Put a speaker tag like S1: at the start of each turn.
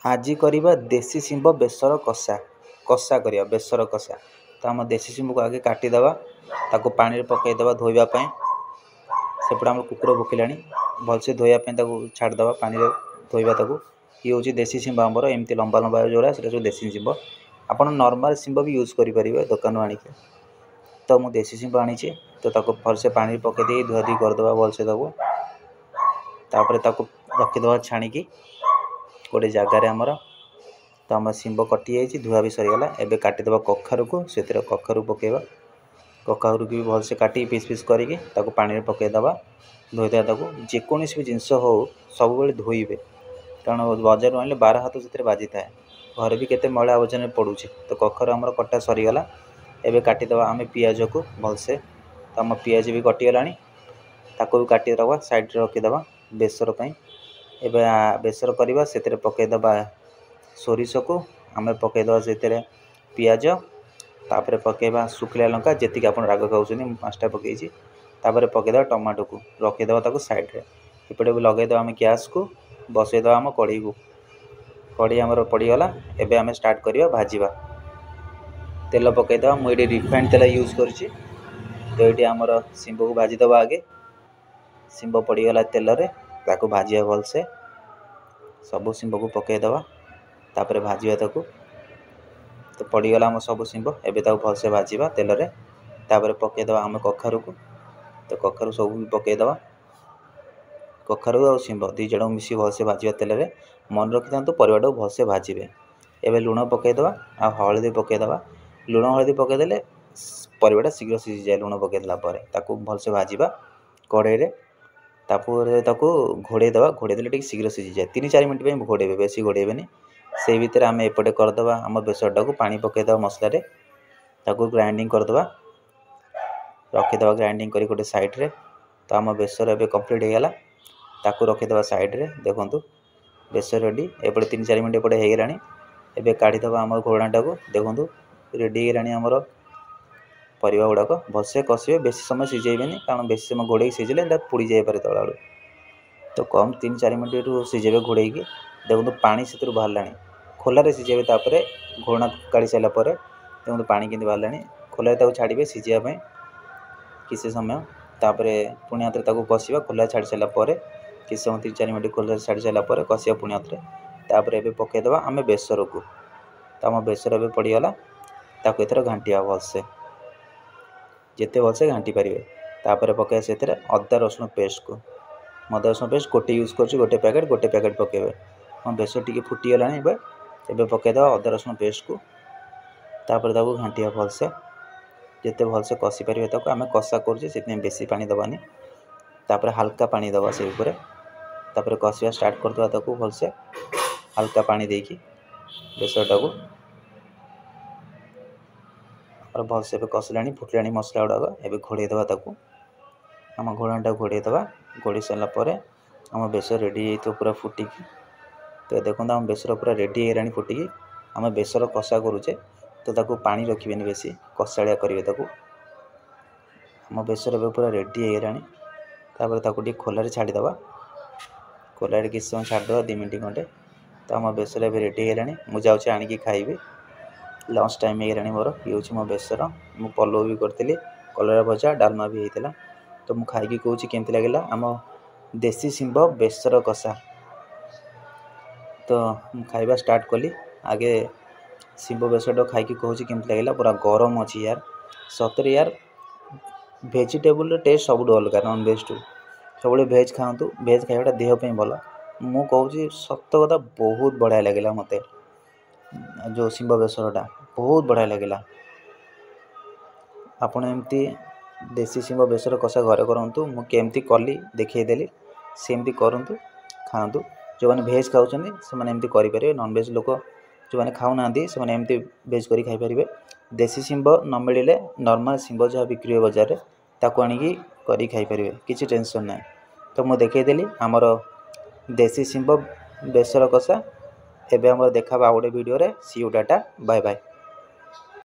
S1: ଆଜି କରିବା ଦେଶୀ ଶିମ୍ବ ବେସର କଷା। କଷା କରିବା ବେସର କଷା। ତ ଆମ ଦେଶୀ ଶିମ୍ବକୁ ଆଗେ କାଟିଦେବା, ତାକୁ ପାଣିରେ ପକାଇଦେବା ଧୋଇବା ପାଇଁ। ସେପଟେ ଆମର କୁକୁର ଭୁକିଲାଣି। ଭଲସେ ଧୋଇବା ପାଇଁ ତାକୁ ଛାଡ଼ିଦେବା, ପାଣିରେ ଧୋଇବା ତାକୁ। ଇଏ ହେଉଛି ଦେଶୀ ଶିମ୍ବ ଆମର, ଏମିତି ଲମ୍ବା ଲମ୍ବା ଯେଉଁଟା, ସେଇଟା ସବୁ ଦେଶୀ ଶିମ୍ବ। ଆପଣ ନର୍ମାଲ୍ ଶିମ୍ବ ବି ୟୁଜ୍ କରିପାରିବେ ଦୋକାନରୁ ଆଣିକି। ତ ମୁଁ ଦେଶୀ ଶିମ୍ବ ଆଣିଛି। ତ ତାକୁ ଭଲସେ ପାଣିରେ ପକାଇ ଦେଇ ଧୁଆଧୁଇ କରିଦେବା ଭଲସେ ତାକୁ। ତାପରେ ତାକୁ ରଖିଦେବା ଛାଣିକି ଗୋଟେ ଜାଗାରେ ଆମର। ତ ଆମ ଶିମ୍ବ କଟିଯାଇଛି, ଧୁଆ ବି ସରିଗଲା। ଏବେ କାଟିଦେବା କଖାରୁକୁ, ସେଥିରେ କଖାରୁ ପକାଇବା। କଖାରୁକୁ ବି ଭଲସେ କାଟିକି ପିସ୍ ପିସ୍ କରିକି ତାକୁ ପାଣିରେ ପକାଇଦେବା, ଧୋଇଦେବା ତାକୁ। ଯେକୌଣସି ବି ଜିନିଷ ହେଉ, ସବୁବେଳେ ଧୋଇବେ, କାରଣ ବଜାରରୁ ଆଣିଲେ 12 ହାତ ସେଥିରେ ବାଜିଥାଏ। ଘରେ ବି କେତେ ମଇଳା ଆବର୍ଜନା ପଡ଼ୁଛି। ତ କଖାରୁ ଆମର କଟା ସରିଗଲା। ଏବେ କାଟିଦେବା ଆମେ ପିଆଜକୁ ଭଲସେ। ତ ଆମ ପିଆଜ ବି କଟିଗଲାଣି, ତାକୁ ବି କାଟିଦେବା, ସାଇଡ଼୍ରେ ରଖିଦେବା ବେସର ପାଇଁ। ଏବେ ବେସର କରିବା। ସେଥିରେ ପକାଇଦେବା ସୋରିଷକୁ, ଆମେ ପକାଇଦେବା ସେଥିରେ ପିଆଜ, ତାପରେ ପକାଇବା ଶୁଖିଲା ଲଙ୍କା, ଯେତିକି ଆପଣ ରାଗ ଖାଉଛନ୍ତି। ମୁଁ 5ଟା ପକାଇଛି। ତାପରେ ପକାଇଦେବା ଟମାଟୋକୁ, ରଖିଦେବା ତାକୁ ସାଇଡ଼୍ରେ। ଏପଟେ ବି ଲଗାଇଦେବା ଆମେ ଗ୍ୟାସ୍କୁ, ବସେଇଦେବା ଆମ କଢ଼େଇକୁ। କଢ଼େଇ ଆମର ପଡ଼ିଗଲା। ଏବେ ଆମେ ଷ୍ଟାର୍ଟ କରିବା ଭାଜିବା। ତେଲ ପକାଇଦେବା। ମୁଁ ଏଇଠି ରିଫାଇଣ୍ଡ ତେଲ ୟୁଜ୍ କରୁଛି। ତ ଏଇଠି ଆମର ଶିମ୍ବକୁ ଭାଜିଦେବା ଆଗେ। ଶିମ୍ବ ପଡ଼ିଗଲା ତେଲରେ, ତାକୁ ଭାଜିବା ଭଲସେ। ସବୁ ଶିମ୍ବକୁ ପକାଇଦେବା, ତାପରେ ଭାଜିବା ତାକୁ। ତ ପଡ଼ିଗଲା ଆମ ସବୁ ଶିମ୍ବ। ଏବେ ତାକୁ ଭଲସେ ଭାଜିବା ତେଲରେ। ତାପରେ ପକାଇଦେବା ଆମେ କଖାରୁକୁ। ତ କଖାରୁ ସବୁ ବି ପକାଇଦେବା। କଖାରୁ ଆଉ ଶିମ୍ବ 2 ଜଣକୁ ମିଶି ଭଲସେ ଭାଜିବା ତେଲରେ। ମନେ ରଖିଥାନ୍ତୁ, ପରିବାଟାକୁ ଭଲସେ ଭାଜିବେ। ଏବେ ଲୁଣ ପକାଇଦେବା ଆଉ ହଳଦୀ ପକାଇଦେବା। ଲୁଣ ହଳଦୀ ପକାଇଦେଲେ ପରିବାଟା ଶୀଘ୍ର ସିଝିଯାଏ। ଲୁଣ ପକାଇଦେଲା ପରେ ତାକୁ ଭଲସେ ଭାଜିବା କଢ଼େଇରେ। ତାପରେ ତାକୁ ଘୋଡ଼େଇ ଦେବା। ଘୋଡ଼େଇ ଦେଲେ ଟିକେ ଶୀଘ୍ର ସିଝିଯାଏ। 3 4 ମିନିଟ୍ ପାଇଁ ଘୋଡ଼େଇବେ, ବେଶୀ ଘୋଡ଼େଇବେନି। ସେଇ ଭିତରେ ଆମେ ଏପଟେ କରିଦେବା ଆମ ବେସରଟାକୁ। ପାଣି ପକାଇଦେବା ମସଲାରେ, ତାକୁ ଗ୍ରାଇଣ୍ଡିଙ୍ଗ କରିଦେବା, ରଖିଦେବା ଗ୍ରାଇଣ୍ଡିଙ୍ଗ କରି ଗୋଟେ ସାଇଡ଼୍ରେ। ତ ଆମ ବେସର ଏବେ କମ୍ପ୍ଲିଟ୍ ହେଇଗଲା, ତାକୁ ରଖିଦେବା ସାଇଡ଼୍ରେ। ଦେଖନ୍ତୁ, ବେସର ରେଡ଼ି। ଏପଟେ 3 4 ମିନିଟ୍ ଏପଟେ ହେଇଗଲାଣି। ଏବେ କାଢ଼ିଦେବା ଆମ ଘୋଡ଼ଣାଟାକୁ। ଦେଖନ୍ତୁ, ରେଡ଼ି ହେଇଗଲାଣି ଆମର ପରିବା ଗୁଡ଼ାକ। ଭଲସେ କଷିବେ, ବେଶୀ ସମୟ ସିଝେଇବେନି, କାରଣ ବେଶୀ ସମୟ ଘୋଡ଼େଇକି ସିଝିଲେ ଏଇଟା ପୋଡ଼ି ଯାଇପାରେ ତଳ ଆଡ଼ୁ। ତ କମ୍ 3 4 ମିନିଟ୍ରୁ ସିଝେଇବେ ଘୋଡ଼େଇକି। ଦେଖନ୍ତୁ, ପାଣି ସେଥିରୁ ବାହାରିଲାଣି। ଖୋଲାରେ ସିଝେଇବେ। ତାପରେ ଘୋଡ଼ଣା କାଢ଼ି ସାରିଲା ପରେ ଦେଖନ୍ତୁ ପାଣି କେମିତି ବାହାରିଲାଣି। ଖୋଲାରେ ତାକୁ ଛାଡ଼ିବେ ସିଝିବା ପାଇଁ କିଛି ସମୟ। ତାପରେ ପୁଣି ଆଉଥରେ ତାକୁ କଷିବା। ଖୋଲାରେ ଛାଡ଼ି ସାରିଲା ପରେ କିଛି ସମୟ, 3 4 ମିନିଟ୍ ଖୋଲାରେ ଛାଡ଼ି ସାରିଲା ପରେ କଷିବା ପୁଣି ଆଉଥରେ। ତାପରେ ଏବେ ପକାଇଦେବା ଆମେ ବେସରକୁ। ତ ଆମ ବେସର ଏବେ ପଡ଼ିଗଲା। ତାକୁ ଏଥର ଘାଣ୍ଟିବା ଭଲସେ, ଯେତେ ଭଲସେ ଘାଣ୍ଟି ପାରିବେ। ତାପରେ ପକାଇବା ସେଥିରେ ଅଦା ରସୁଣ ପେଷ୍ଟକୁ। ମୁଁ ଅଦା ରସୁଣ ପେଷ୍ଟ ଗୋଟେ ୟୁଜ୍ କରୁଛି, ଗୋଟେ ପ୍ୟାକେଟ୍। ଗୋଟେ ପ୍ୟାକେଟ୍ ପକାଇବେ। ଆମ ବେସର ଟିକେ ଫୁଟିଗଲାଣି ଏବେ। ଏବେ ପକାଇଦେବା ଅଦା ରସୁଣ ପେଷ୍ଟକୁ। ତାପରେ ତାକୁ ଘାଣ୍ଟିବା ଭଲସେ, ଯେତେ ଭଲସେ କଷି ପାରିବେ ତାକୁ। ଆମେ କଷା କରୁଛେ, ସେଥିପାଇଁ ବେଶୀ ପାଣି ଦେବାନି। ତାପରେ ହାଲକା ପାଣି ଦେବା ସେଇ ଉପରେ। ତାପରେ କଷିବା ଷ୍ଟାର୍ଟ କରିଦେବା ତାକୁ ଭଲସେ ହାଲକା ପାଣି ଦେଇକି ବେସରଟାକୁ। ଆମର ଭଲସେ ଏବେ କଷିଲାଣି, ଫୁଟିଲାଣି ମସଲା ଗୁଡ଼ାକ। ଏବେ ଘୋଡ଼େଇ ଦେବା ତାକୁ, ଆମ ଘୋଡ଼ଣାଟାକୁ ଘୋଡ଼େଇ ଦେବା। ଘୋଡ଼େଇ ସାରିଲା ପରେ ଆମ ବେସର ରେଡ଼ି ହେଇଯାଇଥିବ ପୁରା ଫୁଟିକି। ତ ଦେଖନ୍ତୁ, ଆମ ବେସର ପୁରା ରେଡ଼ି ହେଇଗଲାଣି ଫୁଟିକି। ଆମେ ବେସର କଷା କରୁଛେ, ତ ତାକୁ ପାଣି ରଖିବେନି ବେଶୀ, କଷାଳିଆ କରିବେ ତାକୁ। ଆମ ବେସର ଏବେ ପୁରା ରେଡ଼ି ହେଇଗଲାଣି। ତାପରେ ତାକୁ ଟିକେ ଖୋଲାରେ ଛାଡ଼ିଦେବା। ଖୋଲାରେ କିଛି ସମୟ ଛାଡ଼ିଦେବା, 2 ମିନିଟ୍ ଖଣ୍ଡେ। ତ ଆମ ବେସର ଏବେ ରେଡ଼ି ହେଇଗଲାଣି। ମୁଁ ଯାଉଛି ଆଣିକି ଖାଇବି, ଲଞ୍ଚ ଟାଇମ୍ ହେଇଗଲାଣି ମୋର। ଇଏ ହେଉଛି ମୋ ବେସର। ମୁଁ ପଲଉ ବି କରିଥିଲି, କଲରା ଭଜା, ଡାଲମା ବି ହେଇଥିଲା। ତ ମୁଁ ଖାଇକି କହୁଛି କେମିତି ଲାଗିଲା ଆମ ଦେଶୀ ଶିମ୍ବ ବେସର କଷା। ତ ମୁଁ ଖାଇବା ଷ୍ଟାର୍ଟ କଲି। ଆଗେ ଶିମ୍ବ ବେସରଟା ଖାଇକି କହୁଛି କେମିତି ଲାଗିଲା। ପୁରା ଗରମ ଅଛି ୟାର। ସତରେ ୟାର, ଭେଜିଟେବୁଲର ଟେଷ୍ଟ ସବୁଠୁ ଅଲଗା ନନଭେଜଠୁ। ସବୁବେଳେ ଭେଜ୍ ଖାଆନ୍ତୁ, ଭେଜ୍ ଖାଇବାଟା ଦେହ ପାଇଁ ଭଲ। ମୁଁ କହୁଛି ସତ କଥା, ବହୁତ ବଢ଼ିଆ ଲାଗିଲା ମୋତେ ଯେଉଁ ଶିମ୍ବ ବେସରଟା, ବହୁତ ବଢ଼ିଆ ଲାଗିଲା। ଆପଣ ଏମିତି ଦେଶୀ ଶିମ୍ବ ବେସର କଷା ଘରେ କରନ୍ତୁ। ମୁଁ କେମିତି କଲି ଦେଖେଇଦେଲି, ସେମିତି କରନ୍ତୁ, ଖାଆନ୍ତୁ। ଯେଉଁମାନେ ଭେଜ୍ ଖାଉଛନ୍ତି ସେମାନେ ଏମିତି କରିପାରିବେ। ନନଭେଜ୍ ଲୋକ ଯେଉଁମାନେ ଖାଉନାହାନ୍ତି, ସେମାନେ ଏମିତି ଭେଜ୍ କରି ଖାଇପାରିବେ। ଦେଶୀ ଶିମ୍ବ ନ ମିଳିଲେ ନର୍ମାଲ୍ ଶିମ୍ବ ଯାହା ବିକ୍ରି ହୁଏ ବଜାରରେ, ତାକୁ ଆଣିକି କରିକି ଖାଇପାରିବେ, କିଛି ଟେନସନ୍ ନାହିଁ। ତ ମୁଁ ଦେଖେଇଦେଲି ଆମର ଦେଶୀ ଶିମ୍ବ ବେସର କଷା। ଏବେ ଆମର ଦେଖା ଆଉ ଗୋଟେ ଭିଡ଼ିଓରେ। See you, tata, bye bye.